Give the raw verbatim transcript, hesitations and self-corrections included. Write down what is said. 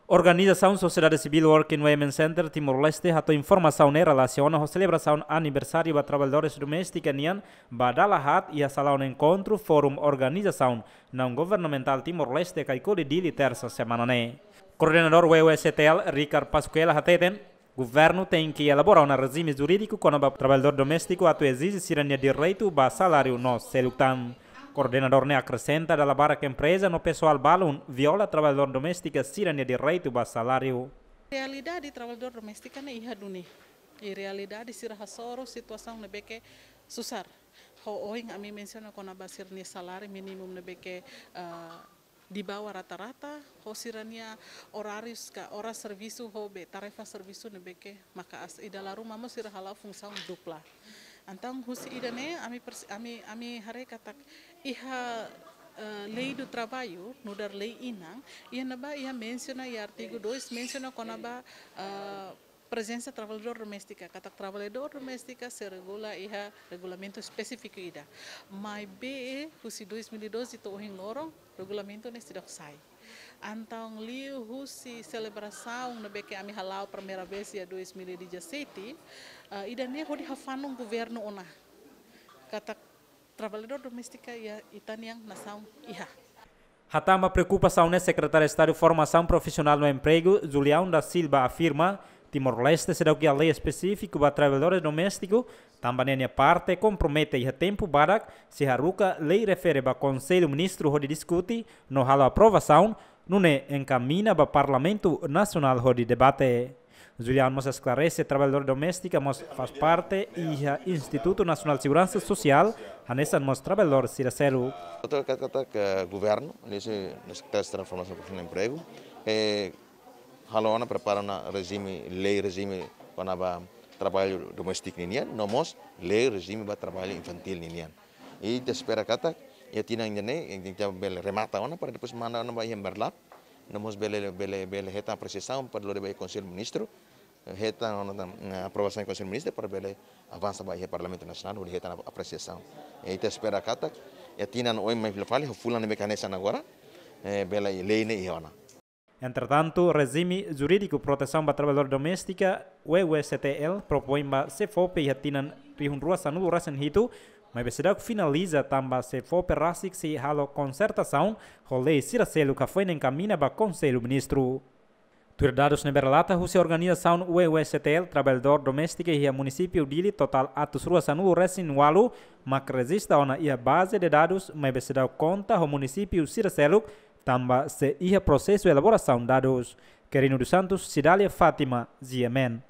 Organizasaun Sosiedade Sivíl Working Women Center Timor-Leste hato'o informasaun ne'e relasiona ho selebrasaun aniversáriu ba traballadores doméstika nian ba dala haat iha salaun enkontru Forum Organizasaun Naun Governamentál Timor-Leste Caicoli Dili, tersa semana ne'e. Koordenadór W W C T L, Ricard Pascuela, hateten, governu tenke elabora ona rejime jurídiku kona-ba traballadór doméstiku atu ezije sira-nia direitu ba saláriu no seluk tan. Koordenadór ne'e akresenta dala barak empreza no pesoál balun viola traballadór doméstika sira-nia direitu ba saláriu. Realidade traballadór doméstika ne'e iha duni. I realidade sira hasoru situasaun ne'ebé ke susar. Ho ohin ami mensiona kona-ba sira-nia saláriu mínimu ne'ebé ke, eh, di bawah rata-rata, ho sira-nia orárius ka oras servisu ho be tarefa servisu ne'ebé ke maka'as, i dala ruma mós sira hala'o funsaun dupla. Entaun husi ida-ne'e ami pers-, ami, ami haree katak iha, eh, Lei do Trabalho, nu'udar lei inan, iha ne'ebá iha mensiona iha artigu dois, mensiona kona-ba, eh, prezensa traballadór doméstika, katak traballadór doméstika sei regula iha regulamentu espesífiku ida. Maibé husi dois mil e doze to'o ohin loron, regulamentu ne'e seidauk sai. Entaun liuhusi selebrasaun ne'ebé ke ami hala'o primeira vez iha dois mil e dezassete, eh, ida-ne'e hodi hafanun governu ona katak traballadór doméstika iha ita-nian nasaun iha. Hatán ba preokupasaun ne'e Sekretáriu Estadu Formasaun Profisionál no Empregu, Julião da Silva, afirma, Timor-Leste seidauk iha lei espesífiku ba traballadores doméstiku, tanba ninia parte kompromete iha tempu badak sei haruka lei refere ba Konsellu Ministru hodi diskute no halo aprovasaun, nune'e enkamiña ba Parlamentu Nasionál hodi debate. Julião mós esklarese, traballadór doméstika mós faz parte iha Institutu Nasionál Seguransa Sosiál, hanesan mós traballadór sira seluk. Outro kata, kata ke governu, ne'e se, ne'e se Sekretáriu Estadu Formasaun Profisionál no Empregu, eh, halo ona, prepara ona rejime, lei rejime kona-ba traballu doméstiku ninian, no mós lei rejime ba traballu infantíl ninian. I ita espera katak iha tinan ida-ne'e, ita bele remata ona para depois manda ona ba iha Merlap, no mós bele, bele, bele hetan apresiasaun para lori ba iha Konsellu Ministru, hetan ona tan, eh, aprovasaun Konsellu Ministru para bele avansa ba iha Parlamentu Nasionál, hodi hetan apresiasaun. I ita espera katak iha tinan oin mai fila fali, ho fulan ne'ebé ke hanesan agora, eh, bele lei ne'e iha ona. Entretantu, rejime jurídiku protesaun ba traballadór doméstika, W W C T L, propoin ba SEFOPE iha tinan rihun rua sanulu resin hitu, maibé seidauk finaliza tanba SEFOPE rasik sei halo konsertasaun ho lei sira seluk ka foin enkamiña ba Konsellu Ministru. Tuir dadus ne'ebé relata husi organizasaun W W C T L, traballadór doméstika iha munisípiu Dili totál atus rua sanulu resin ualu mak rejista ona iha baze de dadus, maibé seidauk konta ho munisípiu sira seluk, tanba sei iha prosesu elaborasaun dadus. Querino dos Santos, Cidália Fátima, G M N.